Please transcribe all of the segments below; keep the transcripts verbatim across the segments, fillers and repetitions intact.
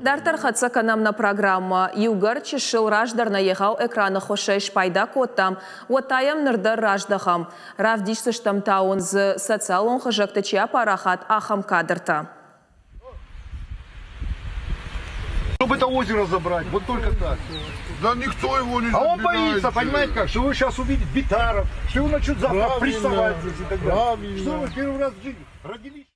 Дарддӕр хӕццӕ кӕнӕм нӕ программӕ. Иугӕр чысыл раздӕр нӕ егъау экраны хуысӕй спайда кодтам, уӕд та йӕм ныр дӕр раздӕхӕм. Равдисдзыстӕм та уын дзы социалон хызӕгты чи апарахат, ахӕм кадртӕ. Чтобы это озеро забрать, вот только так. Да никто его не А он забирает боится, же. понимаете как, что его сейчас увидит Битаров, что его начнут завтра Правильно, прессовать здесь и так далее. правильно. Что вы первый раз в жизни родились?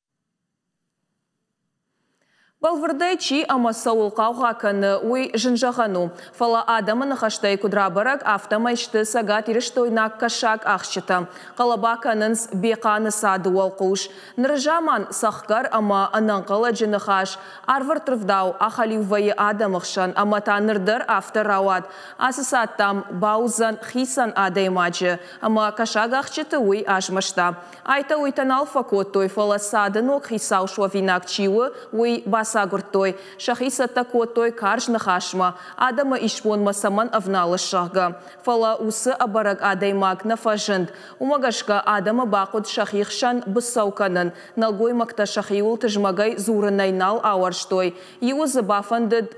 Бӕлвырдӕй чи ӕмӕ цӕуыл хъаугъа кӕны, уый зын зӕгъӕн у. Фӕлӕ адӕмы ныхӕстӕй куыд рабӕрӕг, афтӕмӕй сты цӕгатирыстойнаг кӕсаг ахсджытӕ. Хъӕлӕба кӕнынц Бехъаны цады уӕлхъус. Ныры заман цӕхгӕр ӕмӕ ӕнӕнхъӕлӕджы ныхас арвӕрттывдау ахӕлиу вӕййы адӕмы хсӕн ӕмӕ та ныр дӕр афтӕ рауад. Ацы цад, дам, бауыдзӕн хицӕн адӕймаджы ӕмӕ кӕсагахсджыты уый азмӕста. Айтӕ-уыйтӕ нал фӕкодтой, фӕлӕ цады ног хицау суӕвинаг чи у, уый бацагуырдтой. Сӕхи цӕттӕ кодтой карз ныхасмӕ, адӕмы исбонмӕ цӕмӕн ӕвналыс, зӕгъгӕ. Фӕлӕ уыцы ӕбӕрӕг адӕймаг нӕ фӕзынд. Уымӕ гӕсгӕ адӕмы бахъуыд сӕхи хсӕн быцӕу кӕнын. Нӕлгоймӕгтӕ сӕхиуыл тызмӕгӕй дзурынӕй нал ауӕрстой. Иуы дзы бафӕндыд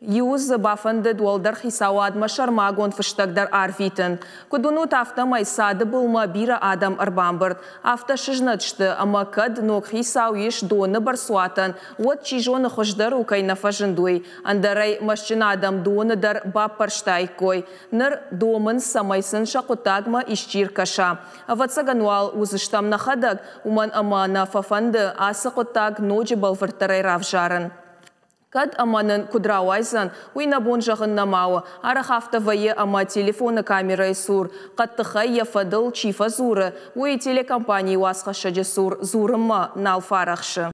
Иуы дзы бафӕндыд уӕлдӕр хицауадмӕ сӕрмагонд фыстӕг дӕр арвитын. Куыд уынут, афтӕмӕй цады былмӕ бирӕ адӕм ӕрбамбырд. Афтӕ сызнӕт сты, ӕмӕ кӕд ног хицау ис доны бӕрцуатӕн, уӕд чи зоны хуыздӕр у, кӕй нӕ фӕзынд, уый. Ӕндӕр ӕй мӕстджын адӕм доны дӕр баппӕрстаиккой. Ныр домынц, цӕмӕй сын сӕ хъуыддагмӕ исчи ркӕса. Ӕвӕццӕгӕн уал уыдзыстӕм нӕхӕдӕг, уымӕн ӕмӕ нӕ фӕфӕнды ацы хъуыддаг ноджы бӕлвырддӕрӕй равзарын. Кӕд ӕмӕ нын куыд рауайдзӕн, уый нӕ бон зӕгъын нӕма у. Арӕх афтӕ вӕййы ӕмӕ телефоны камерӕйы цур хъӕддыхӕй йӕ фӕдыл чи фӕдзуры, уый телекомпанийы уацхӕссӕджы цур дзурынмӕ нал фарӕхсы.